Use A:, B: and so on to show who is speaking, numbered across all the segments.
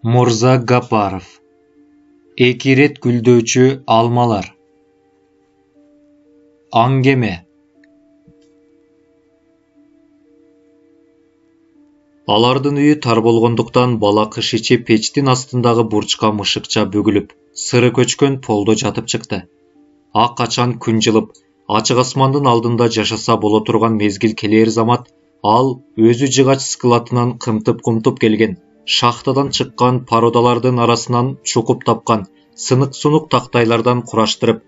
A: Мурза Гапаров. Эки рет гүлдөөчү алмалар. Аңгеме. Алардын үйү тар болгондуктан бала кыш ичи печтин астындагы бурчка мышыкча бүгүлүп, сыры көчкөн полдо жатып чыкты. Ак качан күн жылып, ачык асмандын алдында жашаса боло турган мезгил келер замат, ал өзү жыгач складынан кымтып келген, шахтадан чыккан породалардын арасынан чукуп тапкан сынык-сунук тактайлардан кураштырып,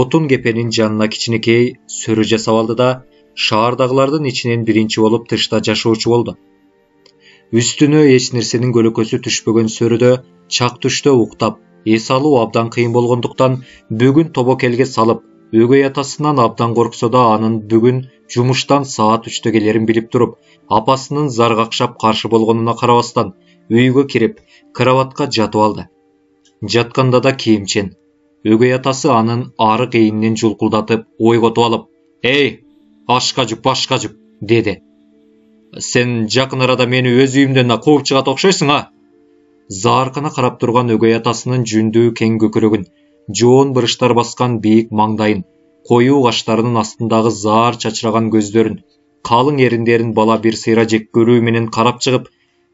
A: отун кепенин жанына кичинекей сөрү жасап алды да, шаардагылардын ичинен биринчи болуп тышта жашоочу болду. Үстүнө эч нерсенин көлөкөсү түшпөгөн сөрүдө чак түштө уктап, эс алуу абдан кыйын болгондуктан бүгүн тобокелге салып, өгөй атасынан абдан корксо да анын бүгүн жумуштан саат 3-тө келерин билип туруп, апасынын заргакшап каршы болгонуна карабастан, үйгө кирип, кроватка жатып алды. Жатканда да кийимчен. Өгөй атасы анын ары кейининен жулкулдатып, ойготуп алып, «Эй, ашка жуп, деди. Сен жакын арада мени өз үйүмдөн кууп чыгат окшойсуң, а?» Зааркана карап турган өгөй атасынын жүндүү кең көкүрөгүн, жоон бырыштар баскан бийик маңдайын, коюу каштарынын астындагы заар чачыраган көздөрүн, калың эриндерин бала бир сыйра жек көрүү менен карап чыгып,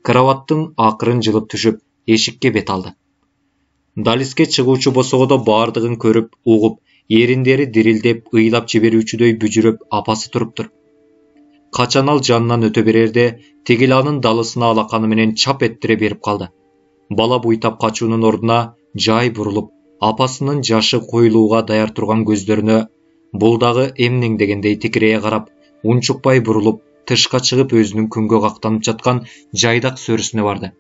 A: кроваттын акырын жылып түшүп, эшикке бет алды. Далиске чыгуучу босогодо бардыгын көрүп, угуп, эриндери дирилдеп, ыйлап жиберүүчүдөй бүжүрөп апасы туруптур. Качан ал жанынан өтө берерде, тигил анын далысына алаканы менен чап эттире берип калды. Бала буйтап качуунун ордуна жай бурулуп, апасынын жашы коюлууга даяр турган көздөрүнө бул дагы эмнең дегендей тикирее карап, унчукпай бурулуп, тышка чыгып өзүнүн күнгө кактанып жаткан жайдак сөрүсүнө барды.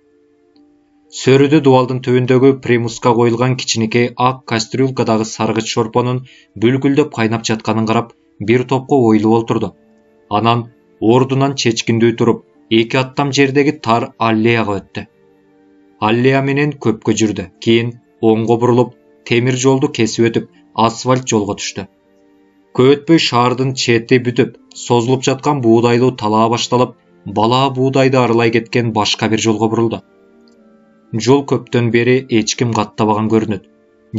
A: Сөрүдө дубалдын түбүндөгү примуска коюлган кичинекей ак кастрюлькадагы саргыч шорпонун бүлкүлдөп кайнап жатканын карап, бир топко ойлуу олтурду. Анан ордунан чечкиндүү туруп, эки аттам жердеги тар аллеяга өттү. Аллея менен көпкө жүрдү. Кийин оңго бурулуп, темир жолду кесип өтүп, асфальт жолго түштү. Көп өтпөй шаардын чети бүтүп, созулуп жаткан буудайлуу талаа башталып, бала буудайды арылай кеткен башка бир жолго бурулду. Жол көптөн бери эч ким каттабаган көрүнөт.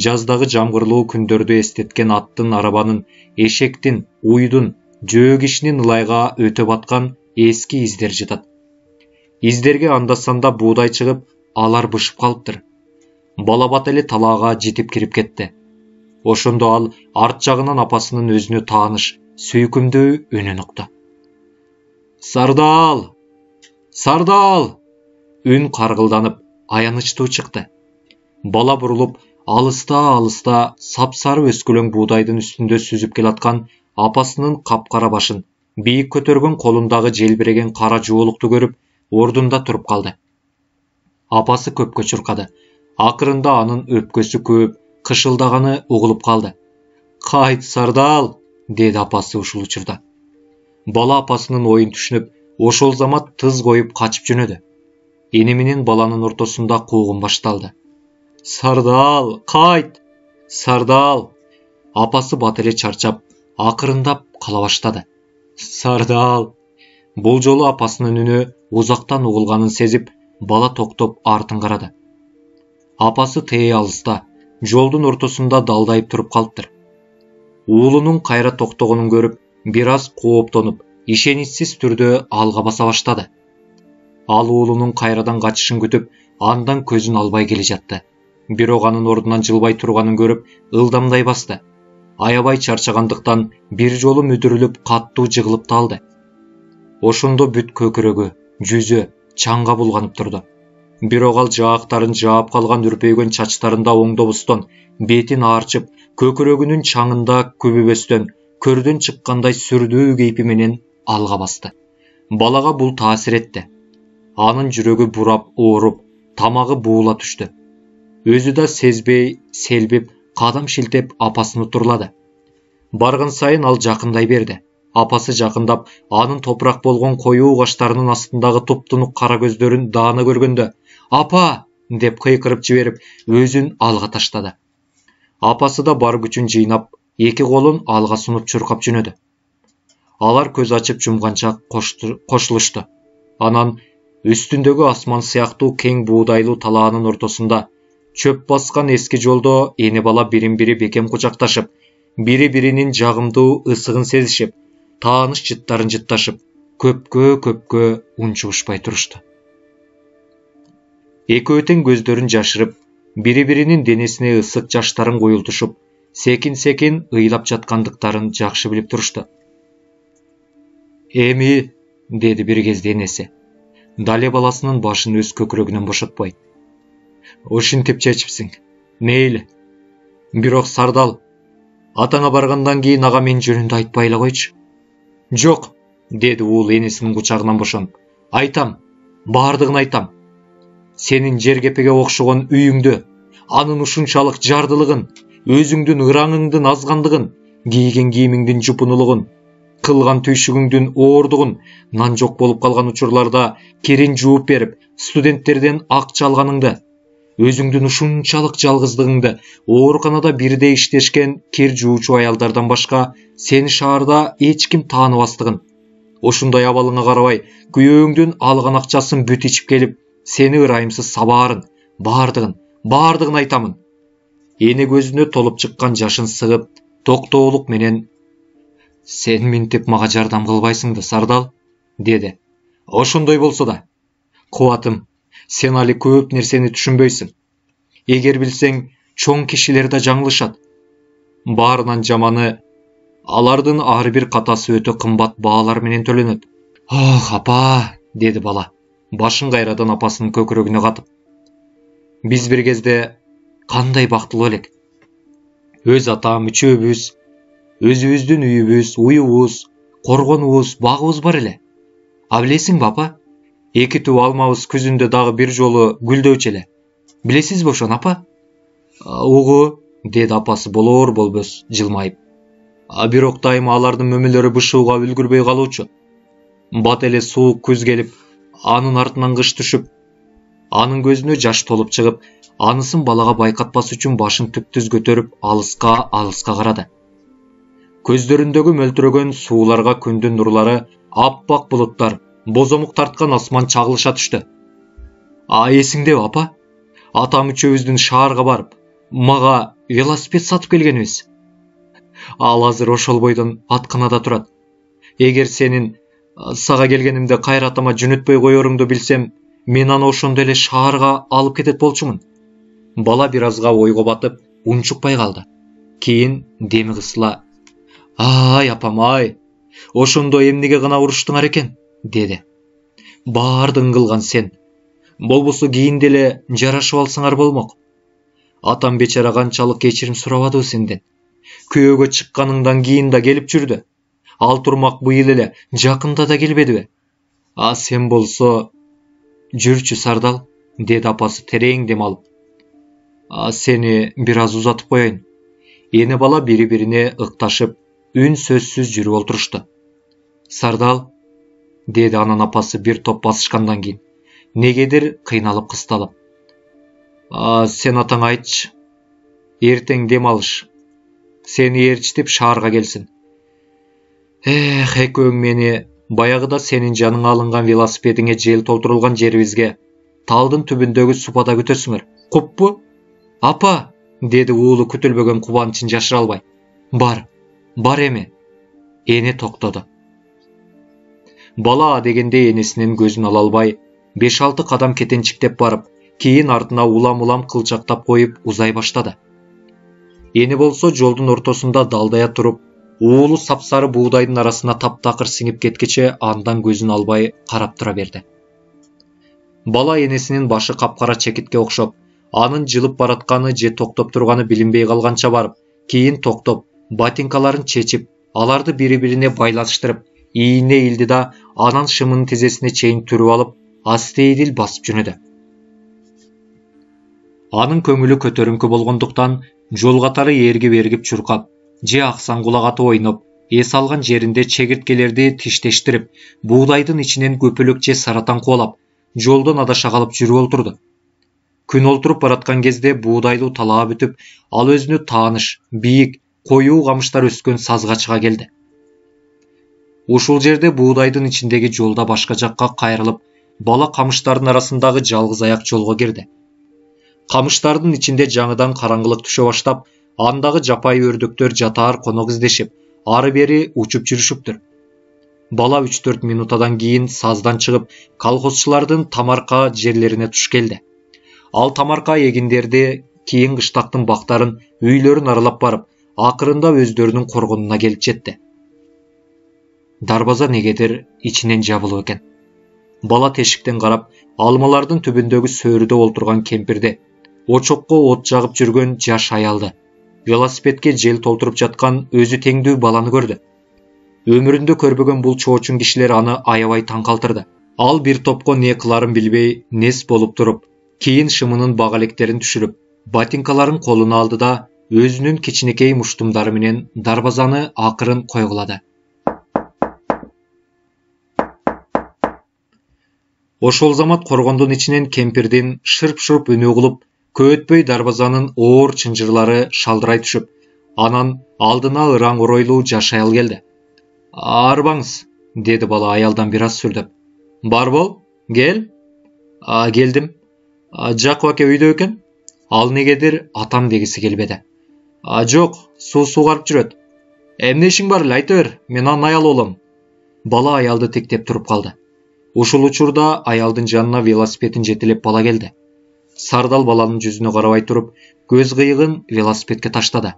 A: Жаздагы жамгырлуу күндөрдү эстеткен аттын, арабанын, эшектин, уйдун, жөө кишинин ылайга өтө баткан эски издер жатат. Издерге анда-санда буудай чыгып, алар бышып калыптыр. Бала бат эле талаага жетип кирип кетти. Ошондо ал арт жагынан апасынын өзүнө тааныш, сүйкүмдүү үнүн укту. «Сардал! Сардал!» Үн каргылданып, аянычтуу чыкты. Бала бурулуп, алыста сапсары өскөлөң буудайдын үстүндө сүзүп келаткан апасынын капкара башын, бийик көтөргөн колундагы желбиреген кара жуолукту көрүп, ордунда туруп калды. Апасы көпкө чуркады. Акырында анын өпкөсү көөп, кышылдаганы угулуп калды. «Кайт, Сардал!» деди апасы ушул учурда. Бала апасынын оюн түшүнүп, ошол замат тыз коюп качып жөнөдү. Эне менен баланын ортосунда куугун башталды. «Сардал, кайт! Сардал!» Апасы бат эле чарчап, акырындап кала баштады. «Сардал!» Бул жолу апасынын үнү узактан угулганын сезип, бала токтоп артын карады. Апасы тээ алыста, жолдун ортосунда далдайып туруп калыптыр. Уулунун кайра токтогонун көрүп, бир аз кооптонуп, ишеничсиз түрдө алга баса баштады. Ал уулунун кайрадан качышын күтүп, андан көзүн албай келе жатты. Бирок анын ордунан жылбай турганын көрүп, ылдамдай басты. Аябай чарчагандыктан бир жолу мүдүрүлүп, каттуу жыгылып талды. Ошондо бүт көкүрөгү, жүзү чаңга булганып турду. Бирок ал жаактарын жаап калган үрпөйгөн чачтарында оңдобустон, бетин аарчып, көкүрөгүнүн чаңында күбүбөстөн, көрдөн чыккандай сүрдүү кейпи менен алга басты. Балага бул таасир этти. Анын жүрөгү бурап, ооруп, тамагы буула түштү. Өзү да сезбей, селбип, кадам шилтеп апасын турлады. Барган сайын ал жакындай берди. Апасы жакындап, анын топурак болгон коюу каштарынын астындагы туптунук кара көздөрүн даана көргөндө, «Апа!» деп кыйкырып жиберип, өзүн алга таштады. Апасы да бар күчүн жыйнап, эки колун алга сунуп чуркап жөнөдү. Алар көз ачып жумганча кошулушту. Анан Үстүндөгү асман сыяктуу кең буудайлуу талаанын ортосунда чөп баскан эски жолдо эне бала бирин бири бекем кучакташып, бири-биринин жагымдуу ысыгын сезишип, тааныш жыттарын жытташып, көпкө унчугушпай турушту. Экөө тең көздөрүн жашырып, бири-биринин денесине ысык жаштарын куюлтушуп, секин ыйлап жаткандыктарын жакшы билип турушту. «Эми», — деди бир кезде энеси, дале баласынын башын өз көкүрөгүнөн бошотпой. «Ушинтип чечипсиң. Мейли. Бирок Сардал, атаңа баргандан кийин ага мен жөнүндө айтпай эле койчу». «Жок», — деди уул энесинин кучагынан бошонуп. «Айтам, баардыгын айтам. Сенин жергепеге окшогон үйүңдө, анын ушунчалык жардылыгын, өзүңдүн ыраңыңдын азгандыгын, кийген кийимиңдин жупунулугун, кылган түйшүгүңдүн оордугун, нан жок болуп калган учурларда кирин жууп берип, студенттерден акча алганыңды, өзүңдүн ушунчалык жалгыздыгыңды, ооруканада бирдей иштешкен кир жуучу аялдардан башка сени шаарда эч ким тааныбастыгын, ушундай абалыңа карабай, күйөөңдүн алган акчасын бүт ичип келип, сени ырайымсыз сабаарын, баардыгын айтамын». Эне көзүнө толуп чыккан жашын сыгып, токтоолук менен: «Сен минтип мага жардам кылбайсың да, Сардал?» деди. «Ошондой болсо да, кубатым, сен али көп нерсени түшүнбөйсүң. Эгер билсең, чоң кишилер да жаңылышат. Баарынан жаманы, алардын ар бир катасы өтө кымбат баалар менен төлөнөт». «Ох, апа», деди бала, башын кайрадан апасынын көкүрөгүнө катып. «Биз бир кезде кандай бактылуу элек. Өз атам, үчөөбүз, өзүбүздүн үйүбүз, уюбуз, коргонубуз, багыбыз бар эле. А билесиңби, апа? 2 түп алмабыз күзүндө дагы бир жолу гүлдөчү эле. Билесизби ошону, апа?» «Угу», деди апасы болбос жылмайып. «Бирок дайыма алардын мөмөлөрү бышууга үлгүрбөй калуучу. Бат эле суук күз келип, анын артынан кыш түшүп, анын көзүнө жаш толуп чыгып, анысын балага байкатпас үчүн башын түптүз көтөрүп, алыска карады. Көздөрүндөгү мөлтүрөгөн сууларга күндүн нурлары, аппак булуттар, бозомук тарткан асман чагылыша түштү. Эсиңдеби, апа? Атам үчөөбүздүн шаарга барып, мага велосипед сатып келгенибиз. Ал азыр ошол бойдон атканада турат. Эгер сенин сага келгенимде кайра атама жөнөтпөй коеруңду билсем, мен аны ошондо эле шаарга алып кетет болчумун». Бала бир азга ойго батып, унчукпай калды. Кийин деми кысыла: «Ай, апам, ай, ошондо эмнеге гана уруштуңар экен?» деди. «Баардыгын кылган сен. Болбосо кийин деле жарашып алсаңар болмок. Атам бечара канчалык кечирим сурабадыбы сенден. Күйөөгө чыкканыңдан кийин да келип жүрдү. Ал турмак быйыл эле жакында да келбедиби? А сен болсо...» «Жүрчү, Сардал», деди апасы терең дем алып. «Сени бир аз узатып коеюн». Эне бала бири-бирине ыкташып, үн сөзсүз жүрүп олтурушту. «Сардал», деди анын апасы бир топ басышкандан кийин, негедир кыйналып кысталып. «Сен атаңа айтчы. Эртең дем алыш. Сени ээрчитип шаарга келсин. Экөөң мени баягыда сенин жаныңа алынган велосипедиңе жел толтурулган жерибизге, талдын түбүндөгү супада күтөсүңөр. Куппу?» «Апа», деди уулу күтүлбөгөн кубанычын жашыра албай. Бар эми». Эне токтоду. Бала дегенде энесинин көзүн ала албай, 5-6 кадам кетенчиктеп барып, кийин артына улам кылчактап коюп узай баштады. Эне болсо жолдун ортосунда далдая туруп, уулу сапсары буудайдын арасына таптакыр сиңип кеткиче андан көзүн албай карап тура берди. Бала энесинин башы капкара чекитке окшоп, анын жылып баратканы же токтоп турганы билинбей калганча барып, кийин токтоп, ботинкаларын чечип, аларды бири-бирине байланыштырып, ийине илди да анан шымынын тизесине чейин түрүп алып, астейдил басып жөнөдү. Анын көңүлү көтөрүңкү болгондуктан жол катары эргип чуркап, же аксан кулак атып ойноп, эс алган жеринде чегирткелерди тиштештирип, буудайдын ичинен көпөлөк же саратан кубалап, жолдон адаша калып жүрүп олтурду. Күн олтуруп бараткан кезде буудайлуу талаа бүтүп, ал өзүнө тааныш, бийик, коюу камыштар өскөн сазга чыга келди. Ушул жерде буудайдын ичиндеги жолда башка жакка кайрылып, бала камыштардын арасындагы жалгыз аяк жолго кирди. Камыштардын ичинде жаңыдан караңгылык түшө баштап, андагы жапайы өрдөктөр жатаар конок издешип, ары бери учуп жүрүшүптүр. Бала 3-4 минутадан кийин саздан чыгып, колхозчулардын тамарка жерлерине туш келди. Ал тамарка эгиндерди, кийин кыштактын бактарын, үйлөрүн аралап барып, акырында өздөрүнүн коргонуна келип жетти. Дарбаза негедир ичинен жабылып экен. Бала тешиктен карап, алмалардын түбүндөгү сөрүдө олтурган кемпирди, очокко от жагып жүргөн жаш аялды, велосипедке жел толтуруп жаткан өзү теңдүү баланы көрдү. Өмүрүндө көрбөгөн бул чоочун кишилер аны аябай таң калтырды. Ал бир топко не кыларын билбей, нес болуп туруп, кийин шымынын бак электерин түшүрүп, ботинкаларын колуна алды да, өзүнүн кичинекей муштумдары менен дарбазаны акырын койгулады. Ошол замат коргондун ичинен кемпирдин шырп-шырп үнү угулуп, көп өтпөй дарбазанын оор чынжырлары шалдырай түшүп, анан алдына ыраң оройлуу жаш аял келди. Арбаңыз, деди бала аялдан бир аз сүрдөп. Бар бол, кел. Келдим. Жакып аке үйдө экен? Ал негедир атам дегиси келбеди. Жок, суу сугарып жүрөт. Эмне ишиң бар эле, айта бер, мен анын аялы болом. Бала аялды тектеп туруп калды. Ушул учурда аялдын жанына велосипедин жетелеп бала келди. Сардал баланын жүзүнө карабай туруп, көз кыйыгын велосипедке таштады.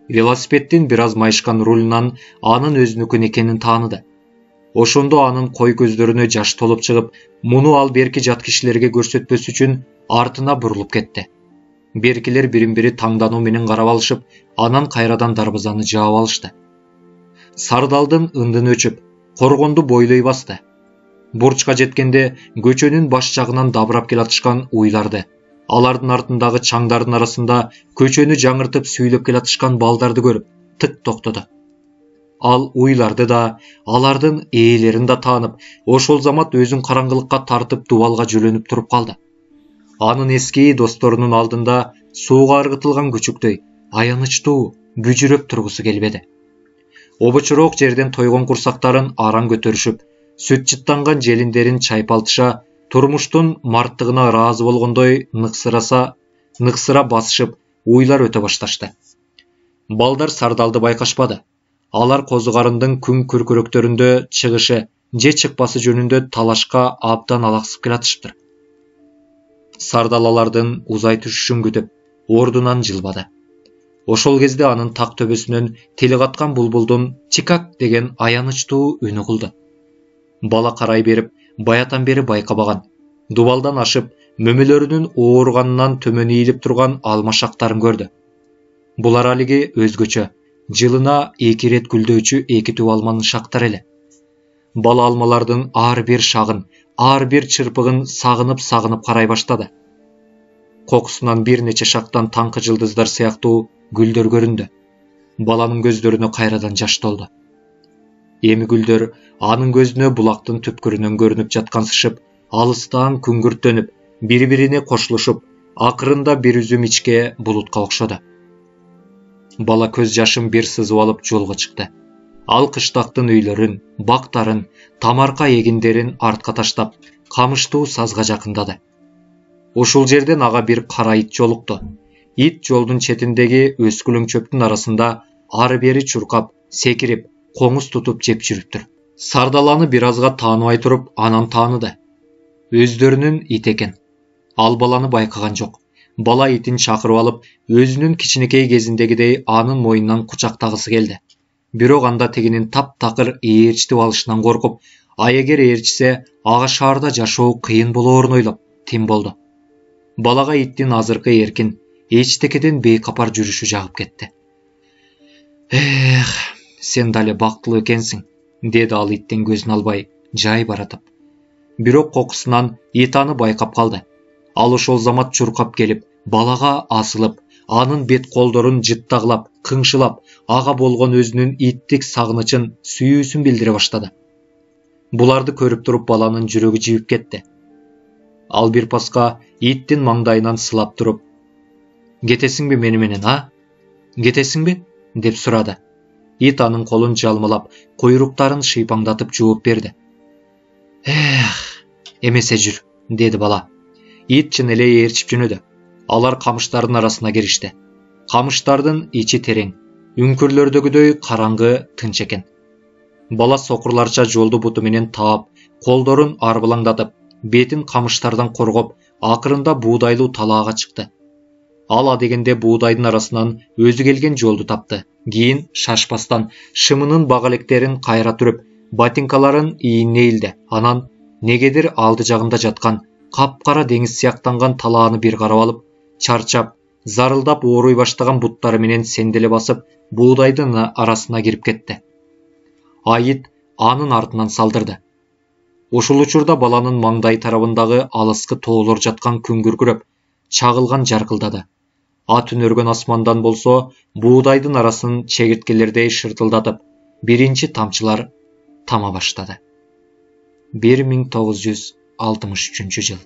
A: Велосипеддин бир аз майышкан рулунан анын өзүнүкүн экенин тааныды. Ошондо анын кой көздөрүнө жаш толуп чыгып, муну ал берки жат кишилерге көрсөтпөс үчүн артына бурулуп кетти. Беркилер бирин-бири таңдануу менен карап алышып, анан кайрадан дарбазаны жаап алышты. Сардалдын ындыны өчүп, коргонду бойлой басты. Бурчка жеткенде көчөнүн баш жагынан дабырап келатышкан уйларды, алардын артындагы чаңдардын арасында көчөнү жаңыртып сүйлөп келатышкан балдарды көрүп, тык токтоду. Ал уйларды да, алардын ээлерин да таанып, ошол замат өзүн караңгылыкка тартып дубалга жөлөнүп туруп калды. Анын эски досторунун алдында сууга ыргытылган күчүктөй, аянычтуу, бүжүрөп тургусу келбеди. Обочурок жерден тойгон курсактарын аран көтөрүшүп, сүт чыттанган желиндерин чайпалтыша, турмуштун марттыгына ыраазы болгондой ныксыра басышып, уйлар өтө башташты. Балдар Сардалды байкашпады. Алар козугарындын күн күркүрөктөрүндө чыгышы же чыкпасы жөнүндө талашка абдан алаксып келатышыптыр. Сардал алардын узай түшүшүн күтүп, ордунан жылбады. Ошол кезде анын так төбөсүнөн тили каткан булбулдун чикак деген аянычтуу үнү кылды. Бала карай берип, баятан бери байкабаган, дубалдан ашып, мөмөлөрүнүн ооруганынан төмөн ийилип турган алма шактарын көрдү. Булар алиги өзгөчө, жылына 2 рет гүлдөөчү 2 түп алманын шактары эле. Бала алмалардын ар бир шагын, ар бир чырпыгын сагынып карай баштады. Кокусунан бир нече шактан таңкы жылдыздар сыяктуу гүлдөр көрүндү. Баланын көздөрүнө кайрадан жаш толду. Эми гүлдөр анын көзүнө булактын түпкүрүнөн көрүнүп жаткансышып, алыстан күңгүрттөнүп, бири-бирине кошулушуп, акырында бир үзүм ичке булутка окшоду. Бала көз жашын бир сызып алып жолго чыкты. Ал кыштактын үйлөрүн, бактарын, тамарка эгиндерин артка таштап, камыштуу сазга жакындады. Ушул жерден ага бир кара ит жолукту. Ит жолдун четиндеги өскүлүң чөптүн арасында ары бери чуркап, секирип, коңуз тутуп жеп жүрүптүр. Сардаланы бир азга тааныбай туруп, анан тааныды. Өздөрүнүн ит экен. Ал баланы байкаган жок. Бала итин чакырып алып, өзүнүн кичинекей кезиндегидей анын мойнунан кучактагысы келди. Бирок анда тегинин таптакыр ээрчитип алышынан коркуп, эгер ээрчисе, ага шаарда жашоо кыйын болоорун ойлоп, тим болду. Балага иттин азыркы эркин, эчтекеден бейкапар жүрүшү жагып кетти. Сен дале бактылуу экенсиң, деди ал иттен көзүн албай, жай баратып. Бирок кокусунан ит аны байкап калды. Ал ошол замат чуркап келип, балага асылып, анын бет колдорун жыттагылап, кыңшылап, ага болгон өзүнүн иттик сагынычын, сүйүүсүн билдире баштады. Буларды көрүп туруп баланын жүрөгү жибип кетти. Ал бир паска иттин маңдайынан сылап туруп, "Кетесиңби мени менен, а? Кетесиңби?" деп сурады. Ит анын колун жалмалап, куйруктарын шыйпаңдатып жооп берди. Эмесе жүр, деди бала. Ит чын эле ээрчип жөнөдү. Алар камыштардын арасына киришти. Камыштардын ичи терең, үңкүрлөрдөгүдөй караңгы, тынч экен. Бала сокурларча жолду буту менен таап, колдорун арбылаңдатып, бетин камыштардан коргоп, акырында буудайлуу талаага чыкты. Ал адегенде буудайдын арасынан өзү келген жолду тапты. Кийин шашпастан шымынын бак электерин кайра түрүп, ботинкаларын ийине илди. Анан негедир алды жагында жаткан капкара деңиз сыяктанган талааны бир карап алып, чарчап, зарылдап ооруй баштаган буттары менен сенделе басып, буудайдын арасына кирип кетти. Айыт анын артынан салдырды. Ушул учурда баланын маңдай тарабындагы алыскы тоолор жаткан күн күркүрөп, чагылган жаркылдады. Ат үнөргөн асмандан болсо, буудайдын арасын чегирткелердей шыртылдатып, биринчи тамчылар тама баштады. 1963 жыл.